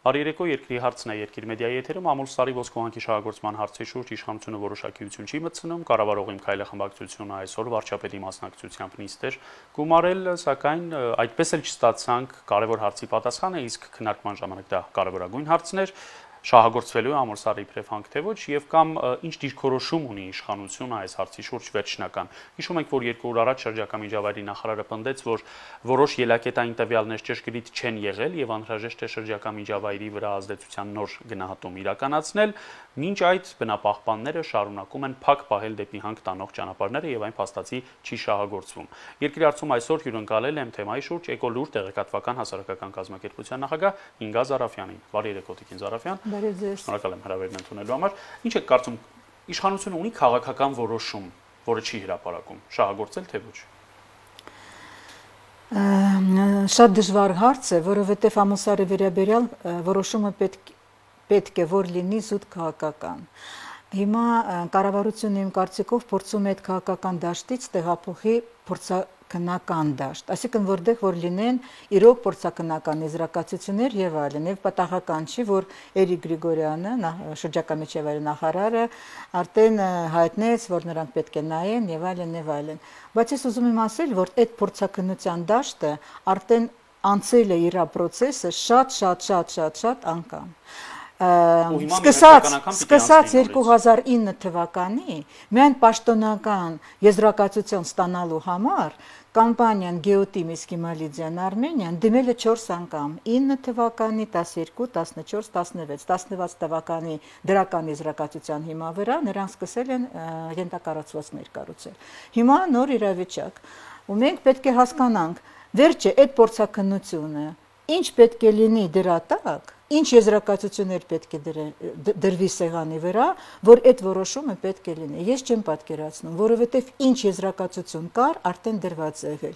Հարիրեկո երկրի հարցն է երկիր մեդիայի եթերում ամուլ սարի ոսկողանքի շահագործման հարցի շուրջ իշխանությունը որոշակիություն չի մտցնում, կառավարողի Միքայել խմբակցությունը այսօր վարչապետի մասնակցությամբ նիստ էր գումարել, սակայն այդպես էլ չստացանք կարևոր հարցի պատասխանը, իսկ քննարկման ժամանակ դա կարևորագույն հարցն էր, շահագործվելու է ամուլ սարի իբրև հանք թե ոչ եւ կամ ինչ դիրքորոշում ունի իշխանությունը այս հարցի շուրջ վերջնական։ Հիշում ենք, որ 2 օր առաջ շրջակա միջավայրի նախարարը պնդեց, որ որոշ ելակետային տվյալներ ճշգրիտ չեն եղել եւ անհրաժեշտ է շրջակա միջավայրի վրա ազդեցության նոր գնահատում իրականացնել, մինչ այդ բնապահպանները շարունակում են փակ պահել դեպի հանք տանող ճանապարհները եւ այն փաստացի չի շահագործվում։ Երկրի հարցում այսօր հյուրընկալել եմ թեմայի շուրջ Էկոլուր տեղեկատվական հասարակական կազմակերպության նախագահ Ինգա Զարաֆյանին։ Բարի երեկո, Տիկին Զարաֆյան։ Շնորհակալ եմ հրավերն ընդունելու համար։ Ինչ եք կարծում, իշխանությունը ունի քաղաքական որոշում, որը չի հրապարակում, շահագործել թե ոչ։ Շատ դժվար հարց է, որովհետև ամուլ սարի վերաբերյալ որոշումը պետք է որ լինի զուտ քաղաքական։ Հիմա կառավարությունը իմ կարծիքով փորձում է այդ քաղաքական դաշտից տեղափոխի փորձաքննական դաշտ, այսինքն որտեղ որ լինեն իրոք փորձաքննական եզրակացություններ եւ այլն, եւ պատահական չի, որ Էրիկ Գրիգորյանը, շրջակա միջավայրի նախարարը, արդեն հայտնեց, որ նրանք պետք է նայեն եւ այլն եւ այլն։ Բայց ես ուզում եմ ասել, որ այդ փորձաքննության դաշտը արդեն անցել է իր process-ը շատ անգամ։ Սկսած 2009 թվականի միայն պաշտոնական եզրակացություն ստանալու համար կամպանիան Գեոտիմ Իսկիմալիդյան Արմենիան դիմել է 4 անգամ 9 թվականի, 12, 14, 16 թվականի դրական եզրակացության հիմա վրա նրանք սկսել են ենթակառուցվածքներ կառուցել։ Հիմա նոր իրավիճակ, ու մենք պետք է հասկանանք, վերջը այդ փորձաքննությունը ինչ պետք է լինի դրա տակ, ինչ եզրակացություններ պետք է դրվի սեղանի վրա, որ այդ որոշումը պետք է լինի։ Ես չեմ պատկերացնում, որովհետև ինչ եզրակացություն կար, արդեն դրված է եղել։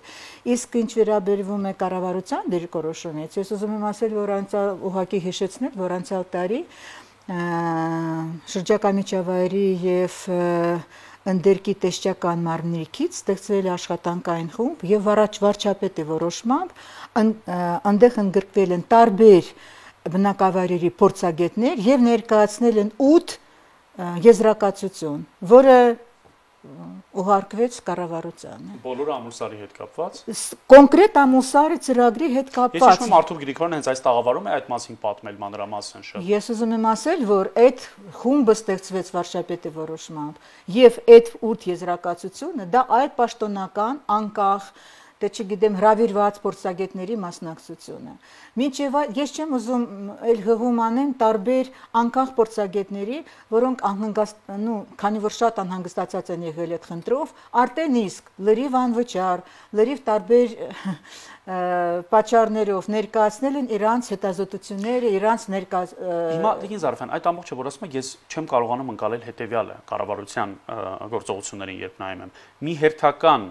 Իսկ ինչ վերաբերվում է կառավարության դիրքորոշումից, ես ուզում եմ ասել, որ ուղղակի հիշեցնել, որ անցյալ տարի շրջակա միջավայրի եւ ընդերքի տեսչական մարմնիկից ստեղծվել է աշխատանքային խումբ եւ վարչապետի որոշմամբ այնտեղ ընդգրկվել են տարբեր բնակավայրերի փորձագետներ եւ ներկայացնել են 8 եզրակացություն, որը ուղարկվեց կառավարությանը։ Բոլորը ամուլ սարի հետ կապված։ Կոնկրետ ամուլ սարի ծրագրի հետ կապված։ Ես հիշում եմ Արթուր Գրիգորյանը հենց այս տաղավարում է այդ մասին պատմել մանրամասն շատ։ Ես ուզում եմ ասել, որ այդ խումբը ստեղծվեց վարչապետի որոշմամբ եւ այդ 8 եզրակացությունը դա այդ պաշտոնական անկախ դե չգիտեմ հրավիրված փորձագետների մասնակցությունը։ Մինչև ես չեմ ուզում էլ հղում անեմ տարբեր անկախ փորձագետների, որոնք քանի որ շատ անհանգստացած են եղել այդ խնդրով, արդեն իսկ լրիվ անվճար, լրիվ տարբեր պատճառներով ներկայացնել են իրանց հետազոտությունները, իրանց Հիմա Տիկին Զարաֆյան, այդ ամբողջը որ ասում եք, ես չեմ կարողանում ընկալել հետեւյալը կառավարության գործողություններին, երբ նայում եմ։ Մի հերթական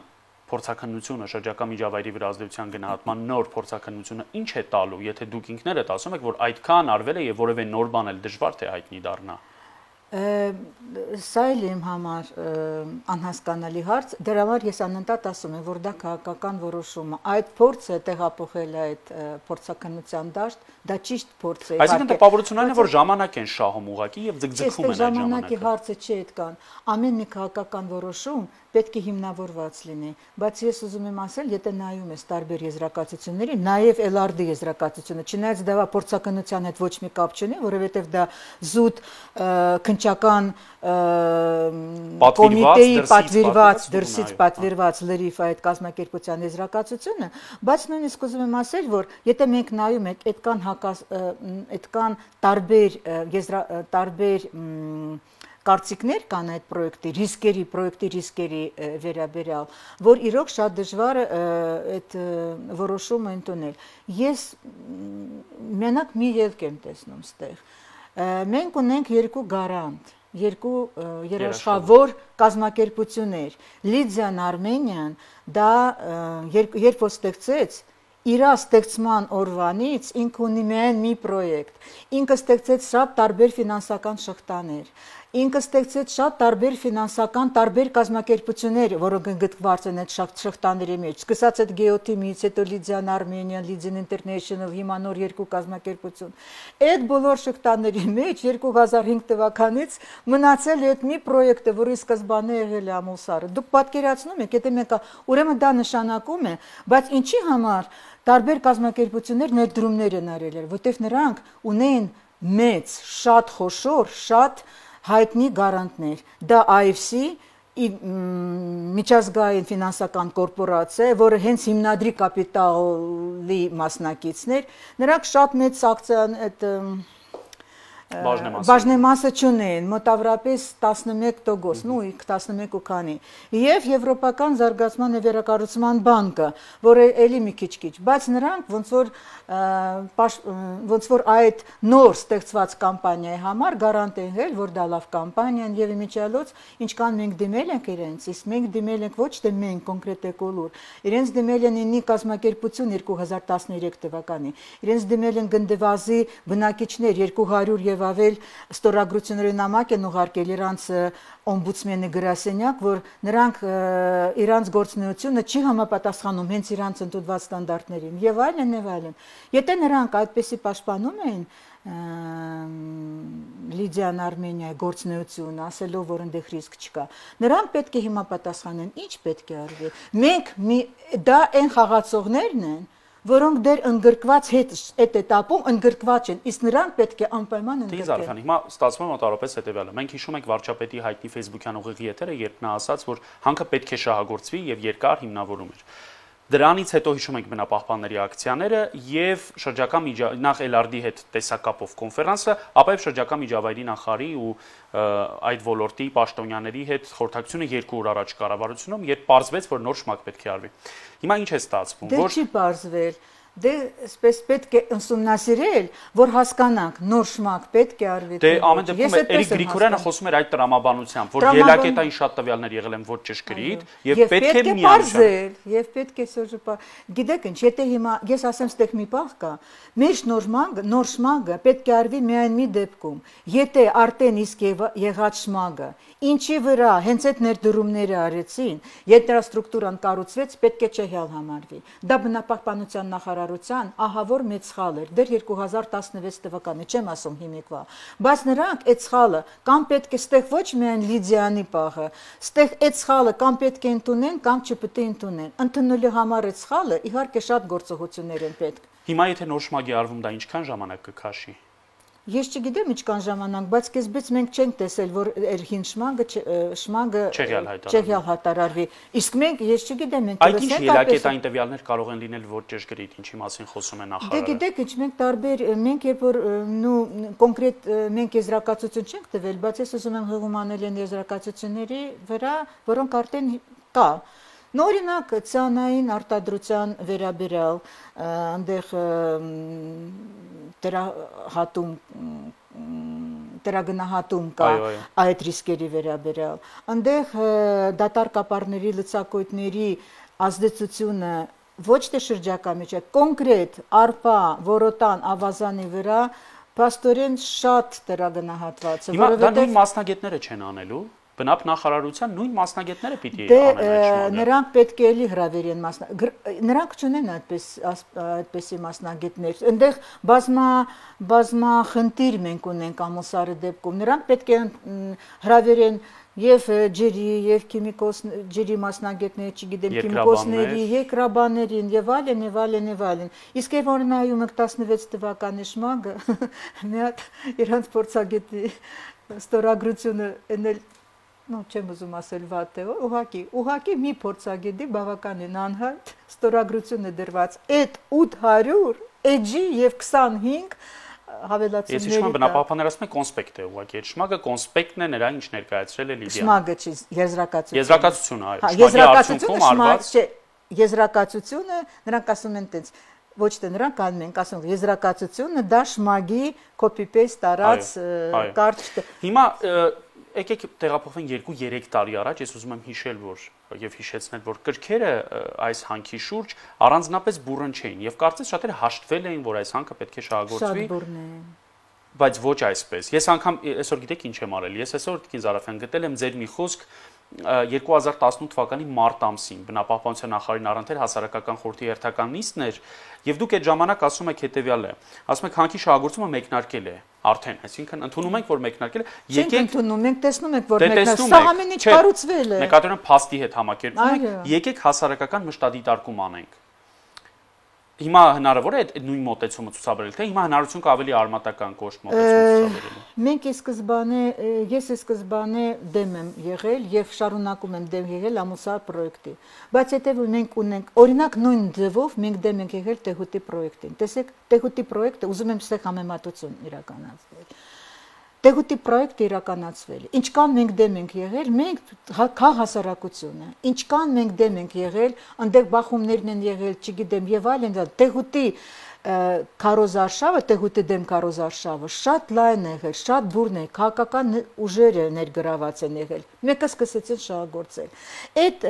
փորձաքննությունը շրջակա միջավայրի վրա ազդեցության գնահատման նոր փորձաքննությունը ինչ է տալու, եթե դուք ինքներդ ասում եք, որ այդքան արվել է եւ որևէ նոր բան էլ դժվար թե հայտնի դառնա։ Սա էլ իմ համար անհասկանալի հարց, դրա համար ես անընդհատ ասում եմ, որ դա քաղաքական որոշում է, այդ փորձը տեղափոխել է այդ փորձաքննության դաշտ, դա ճիշտ փորձ է։ Այսինքն տպավորությունն է, որ ժամանակ են շահում ուղակի եւ ձգձգում են այդ ժամանակի հարցը չի այդքան, ամեն մի քաղաքական որոշում պետք է հիմնավորված լինի, բայց ես ուզում եմ ասել, եթե նայում ես տարբեր եզրակացությունների, նաեւ LRD եզրակացությունը, չնայած դա փորձաքննության հետ ոչ մի կապ չունի, որովհետեւ դա զուտ քննչական կոմիտեի պատվիրված, դրսից պատվիրված լրիվ այդ կազմակերպության եզրակացությունը, բայց նույնիսկ ուզում եմ ասել, որ եթե մենք նայում ենք այդքան տարբեր կարծիքներ կան այդ պրոյեկտի ռիսկերի վերաբերյալ, որ իրոք շատ դժվար է այդ որոշումը ընդունել։ Ես մենակ մի ելք եմ տեսնում ստեղ։ Մենք ունենք երկու գարանտ, երկու երաշխավոր կազմակերպություններ։ Լիդիան Արմենիան դա երբ որ ստեղծեց իր ստեղծման օրվանից ինքը ունի միայն մի պրոյեկտ, ինքը ստեղծեց շատ տարբեր ֆինանսական շղթաներ, ինքը ստեղծեց շատ տարբեր ֆինանսական տարբեր կազմակերպություններ, որոնք ընդգրկված են այդ շղթաների մեջ։ Սկսած այդ Գեոթիմից, հետո Լիդիան Armenian, Lydian International, հիմա նոր երկու կազմակերպություն։ Այդ բոլոր շղթաների մեջ 2005 թվականից մնացել է այդ մի պրոյեկտը, որի սկզբանե եղել է Ամուլսարը։ Դուք պատկերացնում եք, եթե մենք ուրեմն դա նշանակում է, բայց ինչի համար տարբեր կազմակերպություններ ներդրումներ են արել, որտեղ նրանք ունեն մեծ, շատ խոշոր, շատ հայտնի գարանտներ։ Դա IFC միջազգային ֆինանսական կորպորացիա, որը հենց հիմնադրի կապիտալի մասնակիցներ, նրանք շատ մեծ ակցիան այդ բաժնեմասը չունեն, մոտավորապես 11%, նույն 11 ու քանի։ Եվ Եվրոպական զարգացման եւ վերակառուցման բանկը, որը էլի մի քիչ, բայց նրանք ոնց որ այդ նոր ստեղծված կամպանիայի համար գարանտ են եղել, որ դա լավ կամպանիան եւ իմիջիալոց, ինչքան մենք դիմել ենք իրենց, իսկ մենք դիմել ենք ոչ թե մենք կոնկրետ Էկոլուր, իրենց դիմել են ինի կազմակերպություն 2013 թվականին, իրենց դիմել են գնդեվազի բնակիչներ 200 եւ ավել ստորագրությունների նամակ են ուղարկել իրանց օմբուդսմենի գրասենյակ, որ նրանք իրանց գործունեությունը չի համապատասխանում հենց իրանց ընդունված ստանդարտներին եւ այլն եւ այլն։ Եթե նրանք այդպեսի պաշտպանում են Լիդիան Armeniայի գործունեությունը, ասելով, որ այնտեղ ռիսկ չկա, նրանք պետք է հիմա պատասխանեն, ինչ պետք է արվի։ Մենք դա այն խաղացողներն են, որոնք դեռ ընդգրկված այդ этаպում ընդգրկված են, իսկ նրանք պետք է անպայման ընդգրկեն։ Հիմա ստացվում է մոտավորապես հետևյալը։ Մենք հիշում ենք վարչապետի հայտնի Facebook-յան ուղիղ եթերը, երբ նա ասաց, որ հանքը պետք է շահագործվի եւ երկար հիմնավորում էր։ Դրանից հետո հիշում ենք բնապահպանների ակցիաները եւ շրջակա նախ LRD-ի հետ տեսակապով կոնֆերանսը, ապա եւ շրջակա միջավայրի նախարարի ու այդ ոլորտի պաշտոնյաների հետ խորհրդակցությունը 2 օր առաջ կառավարությունում, երբ պարզվեց, որ նոր շմակ պետք է արվի։ Հիմա ինչ է ստացվում, որ չի պարզվել, դե սպես պետք է ուսումնասիրել, որ հասկանանք նոր շմակ պետք է արվի։ Դե ամեն դեպքում Էրիկ Գրիգորյանը խոսում էր այդ տրամաբանությամբ, որ ելակետային շատ տվյալներ եղել են ոչ ճշգրիտ եւ պետք է միանշել, եւ պետք է սոժպա։ Գիտեք ինչ, եթե հիմա ես ասեմ, ստեղ մի պահ կա, մեր նոր շմագը պետք է արվի միայն մի դեպքում, եթե արդեն իսկ եղած շմագը, ինչի վրա հենց այդ ներդրումները արեցին, ետրաստրուկտուրան կառուցվեց, պետք է չհյալ համարվի։ Դա բնապահպանության նախարարության ահավոր մեծ սխալ էր, դեռ 2016 թվականին, չեմ ասում հիմիկվա, բայց նրանք այդ սխալը կամ պետք է ստեղ ոչ միայն Լիդիանի պահը, ստեղ այդ սխալը կամ պետք է ընդունեն, կամ չպետք է ընդունեն։ Ընդունելու համար այդ սխալը իհարկե շատ գործողություններ են պետք։ Հիմա եթե նոր շմագի արվում, դա ինչքան ժամանակ կքաշի։ Ես չգիտեմ ինչքան ժամանակ, բայց սկզբից մենք չենք տեսել, որ հին շմագը չեղյալ հայտարարվի։ Իսկ մենք, ես չգիտեմ, մենք այդ ինչ ելակետային տվյալներ կարող են լինել ոչ ճշգրիտ, ինչի մասին խոսում է նախարարը։ Դե գիտեք, ինչ մենք տարբեր, մենք երբ որ կոնկրետ մենք եզրակացություն չենք տվել, բայց ես ուզում եմ հղում անել են եզրակացությունների վրա, որոնք արդեն կա։ Նորինակ ցանային արտադրության վերաբերյալ այնտեղ տրագնահատում կա այդ ռիսկերի վերաբերյալ։ Այնտեղ դատարկ ապարների լցակույտների ազդեցությունը ոչ թե շրջակա մեջ, կոնկրետ արպա, որոտան, ավազանի վրա փաստորեն շատ տրագնահատված է, որովհետև դա նույն մասնագետները չեն անելու։ Բնապ նախարարության նույն մասնագետները պիտի անեն այդ շմագը։ Նրանք պետք է էլի հրավերեն նրանք չունեն այդպեսի մասնագետներ։ Այնտեղ բազմախնդիր մենք ունենք Ամուլսարի դեպքում։ Նրանք պետք է հրավերեն եւ ջրի եւ ջրի մասնագետներ, չգիտեմ, քիմիկոսների, երկրաբաներին եւ այլն։ Իսկ երբ որ նայում եք 16 թվականի շմագը, մի հատ իրանց փորձագետի ստորագրությունը էնել չեմ ուզում ասել վատ է, ուղղակի մի փորձագետի բավականին անհայտ ստորագրություն է դրված այդ 800 էջի եւ 25 հավելացումների։ Ես հիշում եմ բնապահպանները ասում են կոնսպեկտ է ուղղակի, այդ շմագը կոնսպեկտն է նրա ինչ ներկայացրել է Լիդիան։ Շմագը չի, եզրակացությունը։ Եզրակացությունը, այո, շմագի արդյունքում արված։ Եզրակացությունը նրանք ասում են տենց, ոչ թե նրանք անում են, ասում եզրակացությունը դա շմագի copy-paste տարած կարճ։ Հիմա եկեք տեղափոխվենք 2-3 տարի առաջ, ես ուզում եմ հիշել, որ եւ հիշեցնել, որ կրքերը այս հանքի շուրջ առանձնապես բուրըն չէին եւ կարծես շատերը հաշտվել էին, որ այս հանքը պետք է շահագործվի։ Շատ բուրըն է։ բայց ոչ այսպես։ Ես անգամ այսօր գիտեք ինչ եմ արել։ Ես այսօր Տիկին Զարաֆյան գտել եմ ձեր մի խոսք 2018 թվականի մարտ ամսին բնապահպանության նախարարին առընթեր հասարակական խորհրդի հերթական նիստն էր, եւ դուք այդ ժամանակ ասում եք հետեւյալը. ասում եք հանքի շահագործումը մեկնարկել է արդեն, այսինքն ընդունում ենք, որ մեկնարկել է, եկեք ընդունում ենք, տեսնում ենք, որ մեկնարկել, սա ամեն ինչ կառուցվել է։ Նկատի ունեմ փաստի հետ համակերպում ենք, եկեք հասարակական մշտադիտարկում անենք։ Հիմա հնարավոր է այդ նույն մոտեցումը ցուցաբերել, թե հիմա հնարություն կա ավելի արմատական կոշտ մոտեցում ցուցաբերելու։ Մենք ես սկզբանե դեմ եմ եղել եւ շարունակում եմ դեմ եղել ամուսար պրոյեկտի։ Բայց հետեւում մենք ունենք, օրինակ նույն ձևով մենք դեմ ենք եղել Տեհուտի պրոյեկտին։ Տեսեք, Տեհուտի պրոյեկտը ուզում եմ ստեղ համեմատություն իրականացնել։ Տեհուտի պրոյեկտը իրականացվել է։ Ինչքան մենք դեմ ենք եղել, մենք քա հասարակությունը, ինչքան մենք դեմ ենք եղել, այնտեղ բախումներն են եղել, չգիտեմ, եւ այլն, Տեհուտի քարոզարշավը, Տեհուտի դեմ քարոզարշավը շատ լայն է եղել, շատ բուրն է, քաղաքական ուժերը ներգրաված են եղել։ Մեկը սկսեցին շահագործել։ Այդ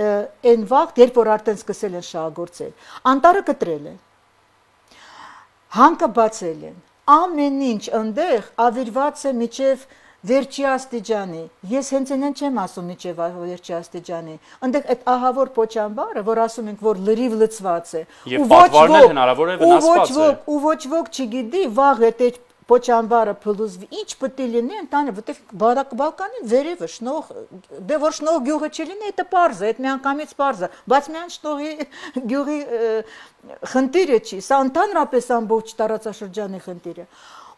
այն վաղ, երբ որ արդեն սկսել են շահագործել, անտառը կտրել են։ Հանքը բացել են։ Ամեն ինչ այնտեղ ավիրված է միջև վերջի աստիճանի։ Ես հենց այնն չեմ ասում միջև վերջի աստիճանի։ Այնտեղ այդ ահավոր պոչամբարը, որ ասում ենք, որ լրիվ լցված է, ու ոչ ոք չգիտի, վաղ է պոչամբարը փլուզվի, ինչ պետք է լինի ընտանը, որտեղ Բալկանի վերևը շնող, դե որ շնող գյուղը չլինի, դա պարզ է, այդ միանգամից պարզ է, բայց միայն շնողի գյուղի խնդիրը չի, սա ընդհանրապես ամբողջ տարածաշրջանի խնդիր է։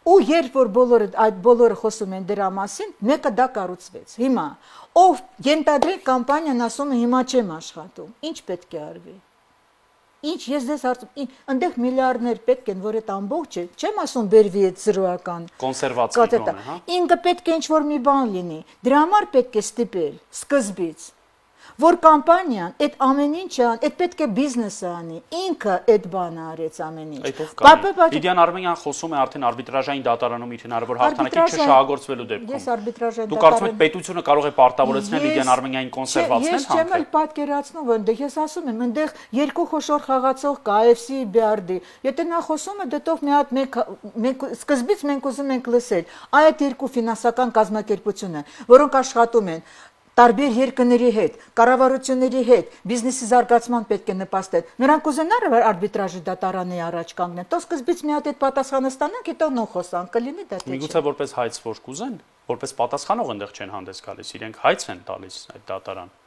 Ու երբ որ այդ բոլորը խոսում են դրա մասին, մեկը դա կառուցվեց։ Հիմա ով ենթադրենք կամպանիան ասում է հիմա չեմ աշխատում, ինչ պետք է արվի։ Ինչ ես դες հարցում, այնտեղ միլիարդներ պետք են, որ այդ ամբողջը, չեմ ասում բերվի այդ զրոական կոնսերվացիա բան, հա։ Ինքը պետք է ինչ-որ մի բան լինի։ Դրա համար պետք է ստիպել սկզբից, որ կամպանիան այդ ամեն ինչը, այդ պետք է բիզնեսը անի, ինքը այդ բանը արեց ամեն ինչ։ Լիդիան Արմենյան խոսում է արդեն արբիտրաժային դատարանում իր հնարավոր հաղթանակի չշահագործվելու դեպքում։ Ես արբիտրաժային դուք կարծում եք պետությունը կարող է պարտավորեցնել Լիդիան Արմենյանին կոնսերվացնել հանքը։ Ես չեմ էլ պատկերացնում, այնտեղ ես ասում եմ, այնտեղ երկու խոշոր խաղացող կա AFC BRD։ Եթե նա խոսում է, դետով մի հատ մենք սկզբից մենք ուզում ենք լսել այդ երկու ֆինանսական կազմակերպությունը, որոնք աշխատում են տարբեր երկրների հետ, կառավարությունների հետ, բիզնեսի զարգացման պետք է նպաստել։ Նրանք ուզենար արբիտրաժի դատարանի առաջ կանգնել։ Տո սկզբից մի հատ այդ պատասխանը ստանանք, հետո նո խոսանք, կլինի դա թե չէ։ Միգուցե որպես հայց որ կուզեն, որպես պատասխանող այնտեղ չեն հանդես գալիս, իրենք հայց են տալիս այդ դատարան։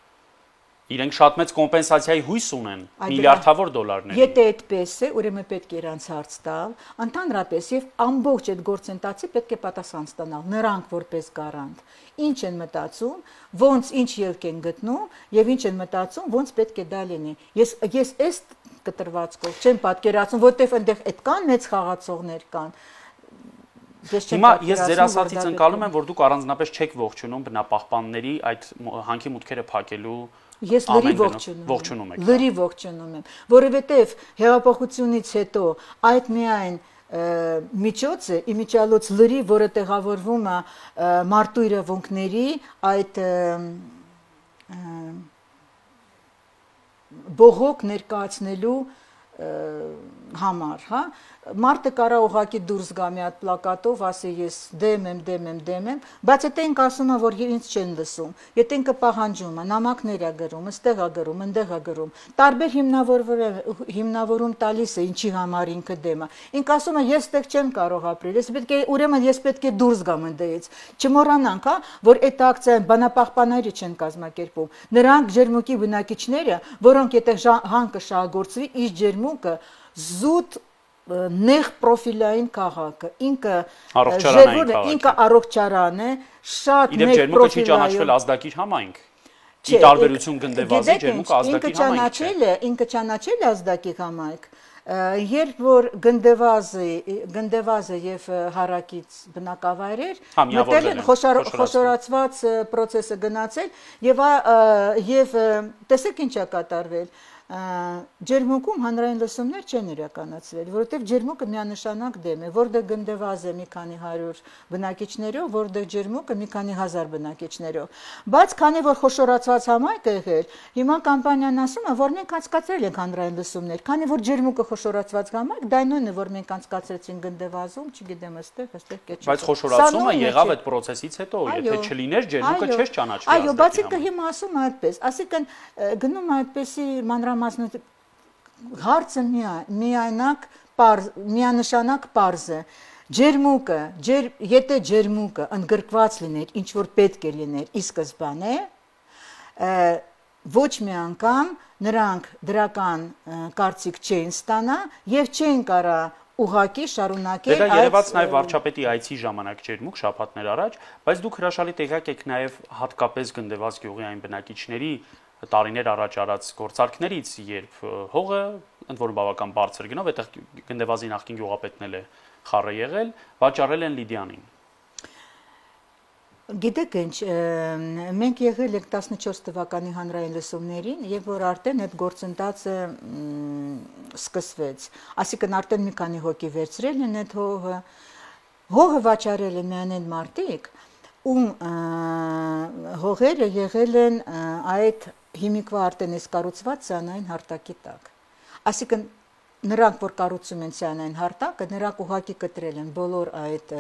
Իրենք շատ մեծ կոմպենսացիայի հույս ունեն, միլիարդավոր դոլարներ։ Եթե այդպես է, ուրեմն պետք է իրանց հարց տալ, ընդհանրապես եւ ամբողջ այդ գործընթացի պետք է պատասխան ստանալ նրանք որպես գարանտ։ Ինչ են մտածում, ոնց ինչ ելք են գտնում եւ ինչ են մտածում, ոնց պետք է դա լինի։ Ես այս կտրվածքով չեմ պատկերացնում, որտեվ այնտեղ այդքան մեծ խաղացողներ կան։ Հիմա ես ձեր ասածից ընկալում եմ, որ դուք առանձնապես չեք ողջունում բնապահպանների այդ հանքի մուտքերը փակելու։ Ես լրիվ ողջունում եմ, լրիվ ողջունում եմ, որովհետև հեղափոխությունից հետո այդ միայն միջոց է, իմիջիալոց լրիվ, որը տեղավորվում է մարդու իրավունքների այդ բողոք ներկայացնելու համար, հա, մարդը կարա ուղակի դուրս գա մի հատ պլակատով, ասի ես դեմ եմ, բայց եթե ինք ասում է, որ ինձ չեն լսում, եթե ինքը պահանջում է, նամակներ է գրում, ստեղ է գրում, ընդեղ է գրում, տարբեր հիմնավորում տալիս է, ինչի համար ինքը դեմ է, ինք ասում է, ես ստեղ չեմ կարող ապրել, ուրեմն ես պետք է դուրս գամ ընդեղից, չմոռանանք, հա, որ այդ ակցիան բանապահպանները չեն կազմակերպում, նրանք ջերմուկի բնակիչները, որոնք եթե հանքը շահագործվի, իս ջերմուկը զուտ նեղ պրոֆիլային քաղաքը, ինքը առողջարան է, շատ նեղ պրոֆիլային։ Ջերմուկը չի ճանաչվել ազդակիր համայնք։ Ի տարբերություն գնդեվազի ջերմուկը ազդակիր համայնք չէ։ Ինքը ճանաչել է ազդակիր համայնք, երբ որ գնդեվազը եւ հարակից բնակավայրեր մտել են խոշորացված process-ը գնացել եւ տեսեք ինչ է կատարվել։ ջերմուկում հանրային լսումներ չեն իրականացվել, որովհետև ջերմուկը միանշանակ դեմ է, որտեղ գնդեվազ է մի քանի 100 բնակիչներով, որտեղ ջերմուկը մի քանի 1000 բնակիչներով։ Բայց քանի որ խոշորացված համայնք է եղել, հիմա կամպանիան ասում է, որ մենք անցկացրել ենք հանրային լսումներ, քանի որ ջերմուկը խոշորացված համայնք, դա նույնն է, որ մենք անցկացրեցին գնդեվազում, չգիտեմ, այստեղ կեչ։ Բայց խոշորացումը եղավ այդ process-ից հետո, եթե չլիներ ջերմուկը չէր ճանաչվի։ Այո, բացի կը հիմա ասում այդպես, ասիկան գնում այդպեսի մանրամասնություն հարցը միանշանակ պարզ է ջերմուկը եթե ջերմուկը ընդգրկված լիներ ինչ որ պետք է լիներ ի սկզբանե ոչ մի անգամ նրանք դրական կարծիք չէին ստանա եւ չէին կարա ուղակի շարունակել Դա երևաց նաև վարչապետի այցի ժամանակ ջերմուկ շաբաթներ առաջ, բայց դուք հրաշալի տեղյակ եք նաև հատկապես գնդեվազ գյուղի այն բնակիչների տարիներ առաջ արած գործարքներից, երբ հողը ընդ որում բավական բարձր գնով, այդտեղ գնդեվազի նախկին գյուղապետն էլ է խառը եղել, վաճառել են Լիդիանին։ Գիտեք ինչ, մենք եղել ենք 14 թվականի հանրային լսումներին, եւ որ արդեն այդ գործընթացը սկսվեց, այսինքն արդեն մի քանի հոգի վերցրել են այդ հողը վաճառել են միայն այն մարդիկ, ում հողերը եղել են այդ հիմիկվա արդեն իսկ կառուցված ցանային հարտակի տակ։ Այսինքն նրանք, որ կառուցում են ցանային հարտակը, նրանք ուղղակի կտրել են բոլոր այդ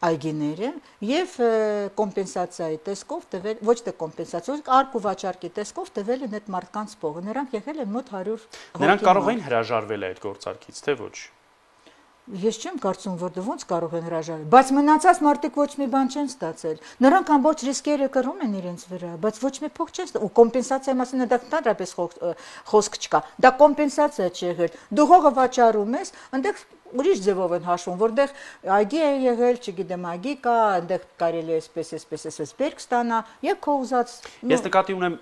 այգիները եւ կոմպենսացիայի տեսքով տվել, ոչ թե կոմպենսացիա, արկ ու վաճառքի տեսքով տվել են այդ մարդկանց փողը։ Նրանք եղել են մոտ 100 հոգի։ Նրանք կարող էին հրաժարվել այդ գործարքից, թե ոչ։ Ես չեմ կարծում, որ դրանց կարող են հրաժարվել, բայց մնացած մարդիկ ոչ մի բան չեն ստացել։ Նրանք ամբողջ ռիսկերը կրում են իրենց վրա, բայց ոչ մի փող չեն ստացել։ Ու կոմպենսացիայի մասին դա ընդհանրապես խոսք չկա։ Դա կոմպենսացիա չի եղել։ Դու հողը վաճառում ես, այնտեղ ուրիշ ձևով են հաշվում, որտեղ այգի է եղել, չգիտեմ, այգի կա, այնտեղ կարելի է այսպես բերք ստանա եւ քո ուզած։ Ես նկատի ունեմ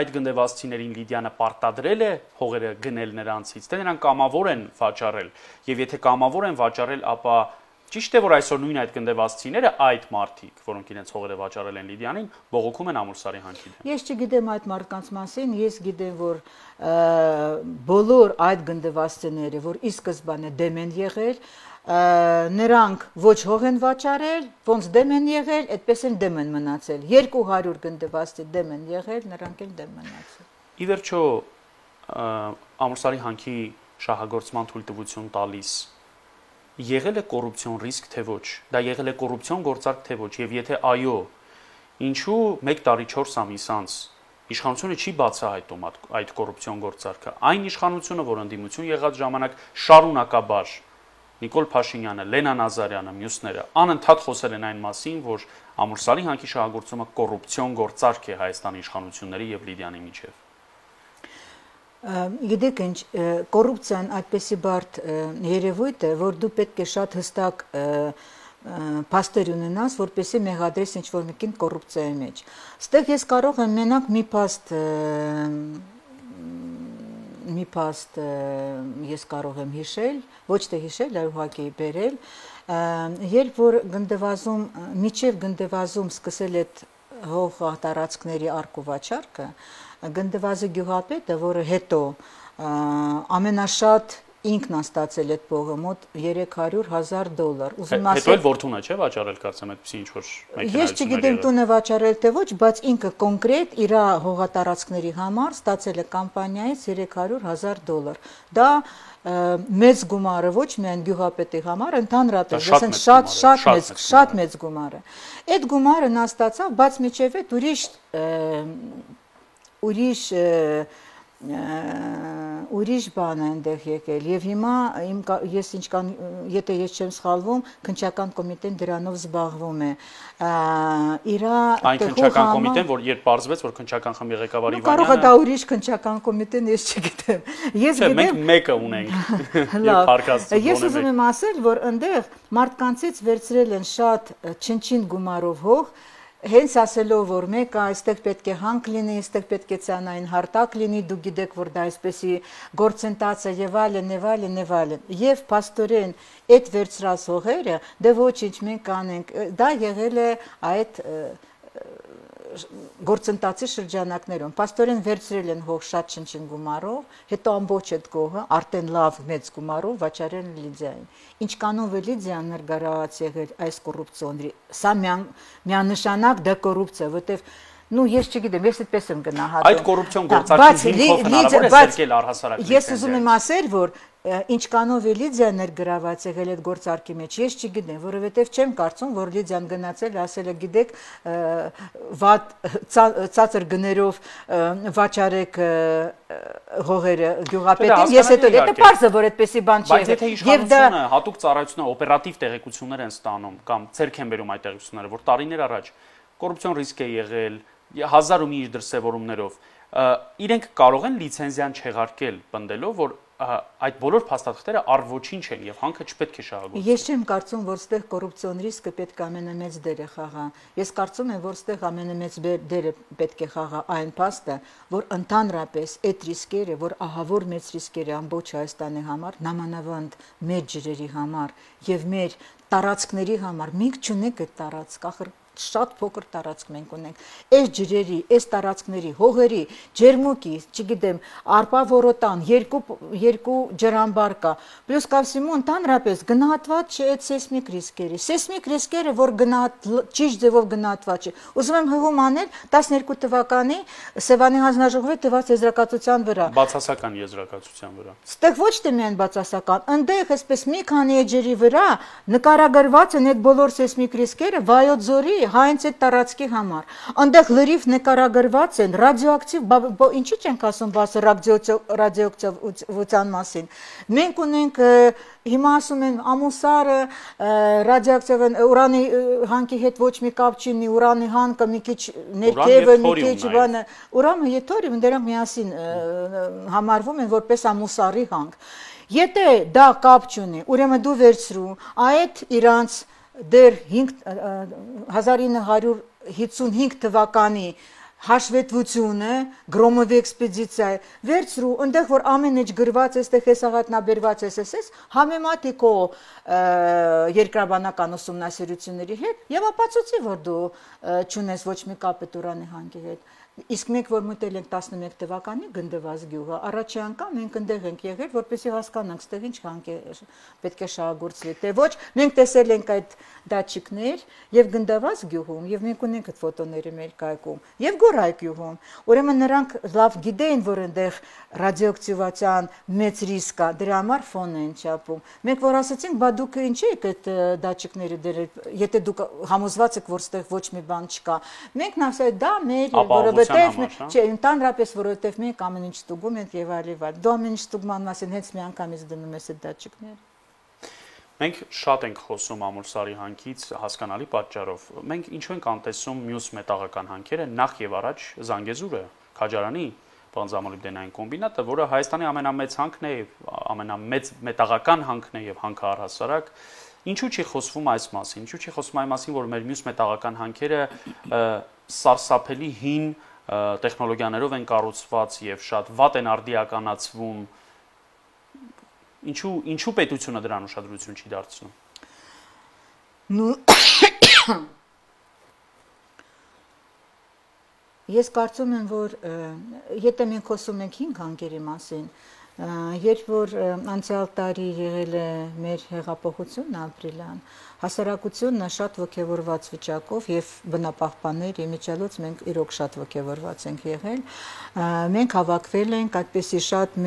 այդ գնդեվազցիներին Լիդիանը պարտադրել է հողերը գնել նրանցից, թե նրանք կամավոր են վաճառել, եւ եթե կամավոր են վաճառել, ապա ճիշտ է որ այսօր նույն այդ գնդեվազցիները այդ մարդիկ, որոնք իրենց հողերը վաճառել են Լիդիանին, բողոքում են Ամուլսարի հանքի դեմ։ Ես չգիտեմ այդ մարդկանց մասին, ես գիտեմ, որ բոլոր այդ գնդեվազցիները, որ ի սկզբանե դեմ են եղել, նրանք ոչ հող են վաճառել, ոնց դեմ են եղել, այդպես են դեմ են մնացել։ 200 գնդեվազցի դեմ են եղել, նրանք էլ դեմ մնացել։ Ի վերջո Ամուլսարի հանքի շահագործման թույլտվություն տալիս եղել է կոռուպցիոն ռիսկ թե ոչ, դա եղել է կոռուպցիոն գործարք թե ոչ, եւ եթե այո, ինչու 1 տարի 4 ամիս անց իշխանությունը չի բացահայտում այդ կոռուպցիոն գործարքը, այն իշխանությունը, որ ընդդիմություն եղած ժամանակ շարունակաբար Նիկոլ Փաշինյանը, Լենա Նազարյանը, մյուսները անընդհատ խոսել են այն մասին, որ Ամուլսարի հանքի շահագործումը կոռուպցիոն գործարք է Հայաստանի իշխանությունների եւ Լիդիանի միջեւ։ Գիտեք ինչ, կոռուպցիան այդպեսի բարդ երևույթ է, որ դու պետք է շատ հստակ փաստեր ունենաս, որպեսզի մեղադրես ինչ-որ մեկին կոռուպցիայի մեջ։ Ստեղ ես կարող եմ մենակ մի փաստ ես կարող եմ հիշել, ոչ թե հիշել, այլ ուղղակի բերել, երբ որ գնդեվազում, միջև գնդեվազում սկսել այդ հող տարածքների արկու վաճառքը, գնդեվազի գյուղապետը, որը հետո ամենաշատ ինքն ստացել այդ փողը մոտ $300,000։ Հետո էլ որդունը չէ վաճառել կարծեմ այդպեսի ինչ որ մեքենա։ Ես չգիտեմ տունը վաճառել թե ոչ, բայց ինքը կոնկրետ իր հողատարածքների համար ստացել է կամպանիայից $300,000։ Դա մեծ գումարը ոչ միայն գյուղապետի համար, ընդհանրապես շատ մեծ գումար է։ Այդ գումարը նա ստացավ, բայց միջև այդ ուրիշ բան է այնտեղ եկել եւ հիմա ես եթե ես չեմ սխալվում, քննչական կոմիտեն դրանով զբաղվում է։ Այն քննչական կոմիտեն, որ երբ պարզվեց, որ քննչական խմբի ղեկավար Իվանյանը կարող է դա ուրիշ քննչական կոմիտեն, ես չգիտեմ։ Ես գիտեմ, մենք մեկը ունենք։ Ես ուզում եմ ասել, որ այնտեղ մարդկանցից վերցրել են շատ չնչին գումարով հող, հենց ասելով, որ մեկը այստեղ պետք է հանք լինի, այստեղ պետք է ցանային հարտակ լինի, դու գիտեք, որ դա այսպեսի գործընթաց է եւ այլն։ Եվ փաստորեն այդ վերցրած հողերը, դե ոչինչ մենք անենք, դա եղել է այդ գործընթացի շրջանակներում պաստորեն վերցրել են հող շատ շնչին գումարով, հետո ամբողջ այդ գողը արդեն լավ մեծ գումարով վաճառել են Լիդիային։ Ինչ կանով է Լիդիան ներգրաված եղել այս կոռուպցիոնի։ Սա միանշանակ դա կոռուպցիա, որտեվ ես չգիտեմ, ես այդպես եմ գնահատում։ Այդ կոռուպցիոն գործարքի հիմքով հնարավոր է սերկել առհասարակ լիցենզիա։ Ես ուզում եմ ասել, որ ինչ կանով է Լիդիան ներգրաված եղել այդ գործարքի մեջ, ես չգիտեմ, որովհետև չեմ կարծում, որ Լիդիան գնացել ասել է, գիտեք, վատ ցածր գներով վաճառեք հողերը գյուղապետին, ես հետո դա պարզ է, որ այդպեսի բան չի եղել։ Բայց եթե իշխանությունը հատուկ ծառայությունները օպերատիվ տեղեկություններ են ստանում կամ ցերկ են բերում այդ տեղեկությունները, որ տարիներ առաջ կոռուպցիոն ռիսկ է եղել, 1000 ու մի իր դրսևորումներով, իրենք կարող են լիցենզիան չեղարկել, պնդելով, որ այդ բոլոր փաստաթղթերը առ-ոչինչ են եւ հանքը չպետք է շահագործվի։ Ես չեմ կարծում, որ ստեղ կոռուպցիոն ռիսկը պետք է ամենամեծ դերը խաղա։ Ես կարծում եմ, որ ստեղ ամենամեծ դերը պետք է խաղա այն փաստը, որ ընդհանրապես այդ ռիսկերը, որ ահավոր մեծ ռիսկերը ամբողջ Հայաստանի համար, նամանավանդ մեր ջրերի համար եւ մեր տարածքների համար, մենք չունենք այդ տարածք, ախր շատ փոքր տարածք մենք ունենք։ Այս ջրերի, այս տարածքների, հողերի, ջերմուկի, չգիտեմ, արպա որոտան, երկու ջրամբար կա։ Պլյուս կավսիմու ընդհանրապես գնահատված չէ այդ սեյսմիկ ռիսկերը։ Սեյսմիկ ռիսկերը, որ ճիշտ ձևով գնահատված չէ։ Ուզում եմ հղում անել 12 թվականի Սևանի հանձնաժողովի տված եզրակացության վրա։ Բացասական եզրակացության վրա։ Ստեղ ոչ թե միայն բացասական, ընդեղ այսպես մի քանի էջերի վրա նկարագրված են այդ բոլոր սեյսմիկ ռիսկերը Վայոց ձորի հենց այդ տարածքի համար։ Այնտեղ լրիվ նկարագրված են ռադիոակտիվ, ինչի՞ չենք ասում բաց ռադիոակտիվության մասին։ Մենք ունենք հիմա ասում են ամուսարը ռադիոակտիվ ուրանի հանքի հետ ոչ մի կապ չունի, ուրանի հանքը մի քիչ ներքևը, մի քիչ բանը, ուրանը եւ թորիում դրանք միասին համարվում են որպես ամուսարի հանք։ Եթե դա կապ չունի, ուրեմն դու վերցրու այդ իրանց դեռ 1955 թվականի հաշվետվությունը, Գրոմովի էքսպեդիցիա, վերցրու, այնտեղ որ ամեն ինչ գրված է, այստեղ հեսաղատնաբերված է, համեմատի քո երկրաբանական ուսումնասիրությունների հետ եւ ապացուցի, որ դու չունես ոչ մի կապ այդ ուրանի հանքի հետ։ Իսկ մենք որ մտել ենք 11 թվականի գնդված գյուղը, առաջի անգամ մենք այնտեղ ենք եղել, որպեսզի հասկանանք, ստեղ ինչ հանք է պետք է շահագործվի, թե ոչ։ Մենք տեսել ենք այդ դատչիկներ եւ գնդված գյուղում, եւ մենք ունենք այդ ֆոտոները մեր կայքում, եւ Գորայք գյուղում։ Ուրեմն նրանք լավ գիտեին, որ այնտեղ ռադիոակտիվացիան մեծ ռիսկ կա, դրա համար ֆոն են չափում։ Մենք որ ասացինք, բա դուք ինչի եք այդ դատչիկները դրել, եթե դուք համոզված եք, որ ստեղ ոչ մի բան չկա։ Մենք ասել դա մեր չէ, ընդհանրապես որովհետև մենք ամեն ինչ ստուգում ենք եւ այլն։ Դու ամեն ինչ ստուգման մասին հենց մի անգամից դնում ես այդ դատչիկները։ Մենք շատ ենք խոսում ամուլսարի հանքից հասկանալի պատճառով։ Մենք ինչու ենք անտեսում մյուս մետաղական հանքերը, նախ եւ առաջ Զանգեզուրը, Քաջարանի բանձամոլիբդենային կոմբինատը, որը Հայաստանի ամենամեծ հանքն է, ամենամեծ մետաղական հանքն է եւ հանքը առհասարակ։ Ինչու չի խոսվում այս մասին։ Ինչու չի խոսվում այն մասին, որ մեր մյուս մետաղական հանքերը սարսափելի հին տեխնոլոգիաներով են կառուցված եւ շատ վատ են արդիականացվում։ Ինչու պետությունը դրան ուշադրություն չի դարձնում։ Ես կարծում եմ, որ եթե մենք խոսում ենք 5 հանքերի մասին, երբ որ անցյալ տարի եղել է մեր հեղափոխությունն ապրիլյան, հասարակությունը շատ ոգևորված վիճակով եւ բնապահպաններ իմիջիալոց մենք իրոք շատ ոգևորված ենք եղել, մենք հավաքվել ենք այդպեսի շատ,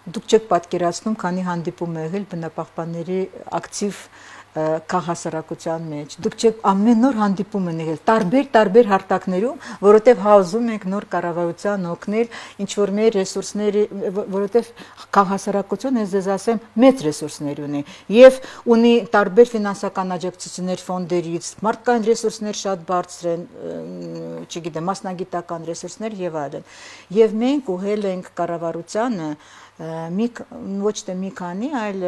դուք չեք պատկերացնում, քանի հանդիպում է եղել բնապահպանների ակտիվ քաղաքասարակության մեջ։ Դուք չեք ամեն օր հանդիպում են եղել տարբեր հարթակներում, որովհետև հազում ենք նոր կառավարության օգնել, ինչ որ մեր ռեսուրսների, որովհետև քաղաքասարակությունը, ես ասեմ, մեծ ռեսուրսներ ունի եւ ունի տարբեր ֆինանսական աջակցություններ ֆոնդերից, մարդկային ռեսուրսներ շատ բարձր են, չգիտեմ, մասնագիտական ռեսուրսներ եւ այլն։ Եվ մենք ուղղել ենք կառավարությանը ոչ թե մի քանի, այլ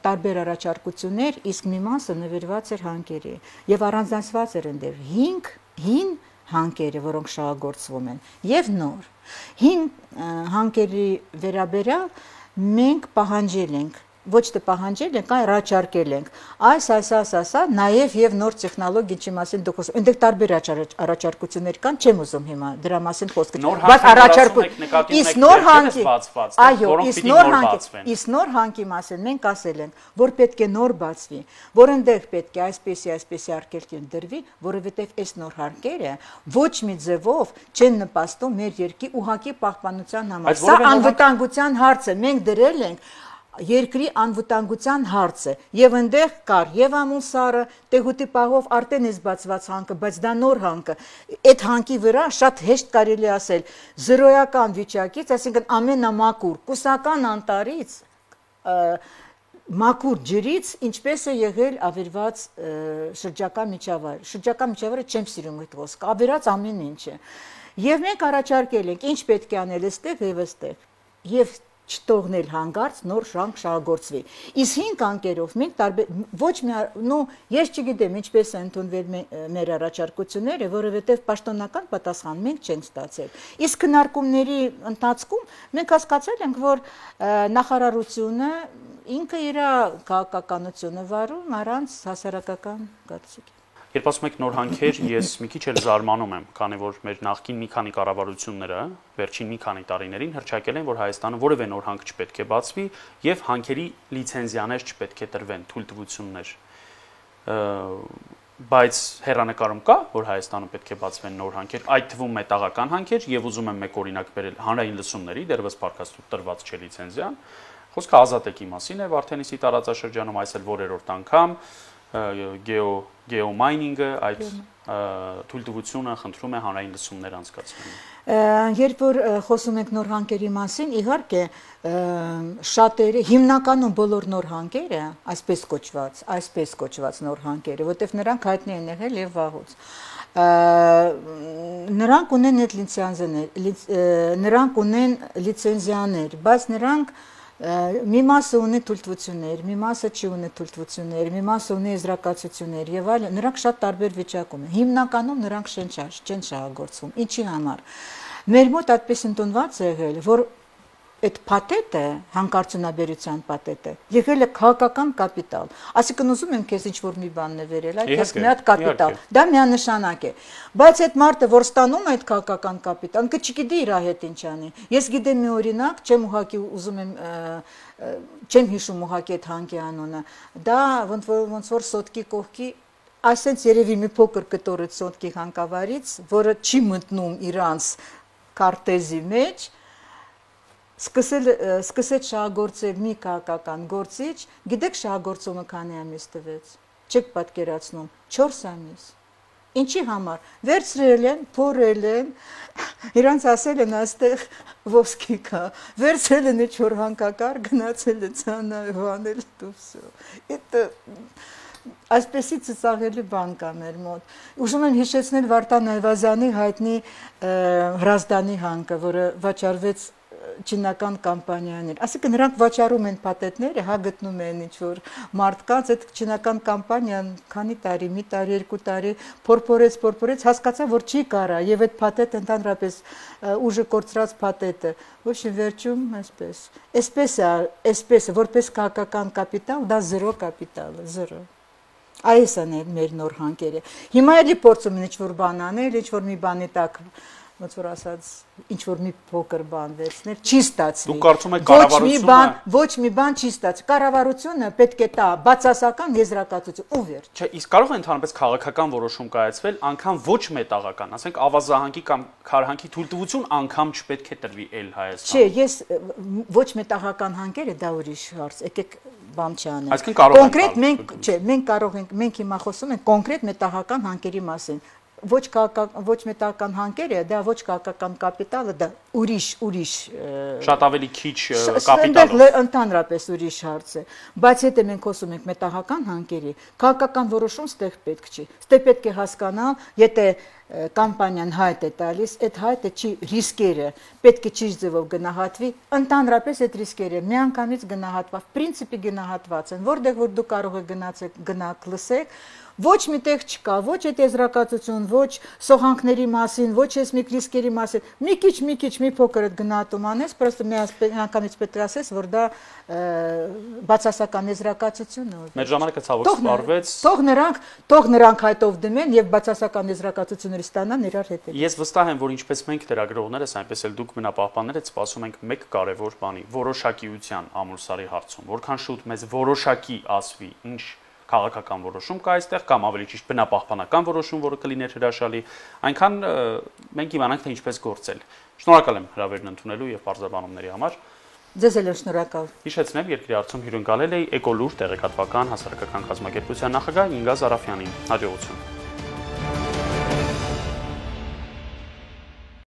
տարբեր առաջարկություններ, իսկ մի մասը նվիրված էր հանքերի եւ առանձնացված էր այնտեղ հին հանքերը, որոնք շահագործվում են եւ նոր։ Հին հանքերի վերաբերյալ մենք պահանջել ենք ոչ թե պահանջել ենք, այլ առաջարկել ենք։ Այս, նաև եւ նոր տեխնոլոգիայի մասին դուք խոսում։ Այնտեղ տարբեր առաջարկություններ կան, չեմ ուզում հիմա դրա մասին խոսք գնել։ Բայց առաջարկություն, նոր հանկի մասին մենք ասել ենք, որ պետք է նոր բացվի, որ այնտեղ պետք է այսպեսի արգելք դրվի, որովհետեւ այս նոր հարկերը ոչ մի ձևով չեն նպաստում մեր երկրի ուղղակի պահպանության համար։ Սա անվտանգության հարց է, մենք դրել ենք երկրի անվտանգության հարցը եւ այնտեղ կար եւ ամուսարը տեղուտի պահով արդեն է բացված հանքը, բայց դա նոր հանքը, այդ հանքի վրա շատ հեշտ կարելի ասել զրոյական վիճակից, այսինքն ամենամակուր կուսական անտարից մակուր ջրից ինչպես է եղել ավերված շրջակա միջավայրը չեմ սիրում այդ խոսքը, ավերած ամեն ինչը եւ մենք առաջարկել ենք ինչ պետք է անել այստեղ եւ այստեղ եւ չթողնել հանգարց նոր շանկ շահագործվի։ Իսկ 5 անկերով մենք ոչ մի ես չգիտեմ ինչպես է ընդունվել մեր առաջարկությունները, որովհետև պաշտոնական պատասխան մենք չենք ստացել։ Իսկ քննարկումների ընթացքում մենք հասկացել ենք, որ նախարարությունը ինքը իր քաղաքականությունը վարում առանց հասարակական կարծիքի։ Երբ ասում եք նոր հանքեր, ես մի քիչ էլ զարմանում եմ, քանի որ մեր նախկին մի քանի կառավարությունները վերջին մի քանի տարիներին հռչակել են, որ Հայաստանը որևէ նոր հանք չպետք է բացվի եւ հանքերի լիցենզիաներ չպետք է տրվեն, թույլտվություններ։ Բայց հեռանկարում կա, որ Հայաստանում պետք է բացվեն նոր հանքեր, այդ թվում մետաղական հանքեր եւ ուզում եմ մեկ օրինակ բերել հանրային լսումների, դեռևս պարկաստու տրված չէ լիցենզիան։ Խոսքը Ազատեկի մասին է, Վարդենիսի տարածաշրջանում այս էլ որերորդ անգամ գեոմայնինգը այդ թույլտվությունը խնդրում է հանրային լսումներ անցկացնել։ Երբ որ խոսում ենք նոր հանքերի մասին, իհարկե շատերը, հիմնականում բոլոր նոր հանքերը, այսպես կոչված նոր հանքերը, որտեղ նրանք հայտնի են եղել եւ վաղուց։ Նրանք ունեն այդ նրանք ունեն լիցենզիաներ, բայց նրանք մի մասը ունի թույլտվություններ, մի մասը չի ունի թույլտվություններ, մի մասը ունի եզրակացություններ եւ այլն, նրանք շատ տարբեր վիճակում են։ Հիմնականում նրանք չեն շահագործվում։ Ինչի համար։ Մեր մոտ այդպես ընդունված է եղել, որ այդ փաթեթը, հանքարդյունաբերության փաթեթը, եղել է քաղաքական կապիտալ։ Այսինքն ուզում եմ քեզ ինչ-որ մի բան նվերել, այդ մի հատ կապիտալ, դա միանշանակ է։ Բայց այդ մարդը, որ ստանում է այդ քաղաքական կապիտալ, ինքը չգիտի իր հետ ինչ անի։ Ես գիտեմ մի օրինակ, չեմ հիշում ուղղակի այդ հանքի անունը։ Դա ոնց որ սոտկի կողքի այսենց երևի մի փոքր կտորը սոտկի հանքավարից, որը չի մտնում իրանց քարտեզի մեջ, սկսեց շահագործել մի քաղաքական գործիչ, գիտեք շահագործումը քանի ամիս տվեց, չեք պատկերացնում, 4 ամիս, ինչի համար, վերցրել են, փորել են, իրանց ասել են աստեղ ոսկի կա, վերցրել են ինչ-որ հանկակար, գնացել է ցանայվանել տուվսո, այսպեսի ծծաղելի բան կա մեր մոտ, ուզում եմ հիշեցնել Վարդան Այվազյանի հայտնի Հրազդանի հանքը, որը վաճառվեց չինական կամպանիաներ, այսինքն նրանք վաճառում են փաթեթները, հա գտնում են ինչ-որ մարդկանց, այդ չինական կամպանիան քանի տարի, մի տարի, 2 տարի փորփորեց, հասկացա, որ չի կարա, եւ այդ փաթեթը ընդհանրապես ուժը կորցրած փաթեթը, ոչ վերջում այսպես է, որպես քաղաքական կապիտալ, դա զերո կապիտալ է, զերո։ Այս են մեր նոր հանքերը։ Հիմա էլի փորձում են ինչ-որ բան անել, ինչ-որ մի բանի տակ ոնց որ ասած ինչ-որ մի փոքր բան վերցնել, չի ստացվի։ Դուք կարծում եք կառավարությունը ոչ մի բան չի ստացվի։ Կառավարությունը պետք է տա բացասական եզրակացություն ու վերջ։ Չէ, իսկ կարող է ընդհանրապես քաղաքական որոշում կայացվել, անգամ ոչ մետաղական, ասենք ավազահանքի կամ քարհանքի թույլտվություն անգամ չպետք է տրվի էլ Հայաստանում։ Չէ, ես ոչ մետաղական հանքերը դա ուրիշ հարց, եկեք բան չանենք։ Այսինքն կարող ենք կոնկրետ մենք, չէ, մենք կարող ենք, մենք հիմա խոսում ենք կոնկրետ մետաղական հանքերի մասին։ Ոչ մետաղական հանքերը, դա ոչ քաղաքական կապիտալը, դա ուրիշ շատ ավելի քիչ կապիտալով։ Ընդհանրապես ուրիշ հարց է, բայց եթե մենք խոսում ենք մետաղական հանքերի, քաղաքական որոշում ստեղ պետք չի։ Ստեղ պետք է հասկանալ, եթե կամպանիան հայտ է տալիս, այդ հայտը չի ռիսկերը, պետք է ճիշտ ձևով գնահատվի, ընդհանրապես այդ ռիսկերը միանգամից գնահատված, պրինցիպի գնահատված են, որտեղ որ դու կարող եք գնաք լսեք, ոչ միտեղ չկա, ոչ այդ եզրակացություն, ոչ սողանքների մասին, ոչ այս մի ռիսկերի մասին, մի քիչ, մի փոքր այդ գնահատում անես, պրոստը միանգամից պետք է ասես, որ դա բացասական եզրակացություն է։ Մեր ժամանակը ցավոք սպառվեց։ Թող նրանք հայտով դմեն եւ բացասական եզրակացություններ ստանան իրար հետ։ Ես վստահ եմ, որ ինչպես մենք լրագրողներս, այնպես էլ դուք բնապահպաններս սպասում ենք մեկ կարևոր բանի՝ որոշակիության ամուլսարի հարցում, որքան շուտ մեզ որոշակի ասվի, ինչ քաղաքական որոշում կա այստեղ կամ ավելի ճիշտ բնապահպանական որոշում, որը կլիներ հրաշալի, այնքան մենք իմանանք թե ինչպես գործել։ Շնորհակալ եմ հրավերն ընդունելու եւ բարձրաբանումների համար։ Ձեզ էլ շնորհակալ։ Հիշեցնեմ, երկրի հարցում հյուրընկալել է Էկոլուր տեղեկատվական հասարակական կազմակերպության նախագահ Ինգա Զարաֆյանին։ Հաջողություն։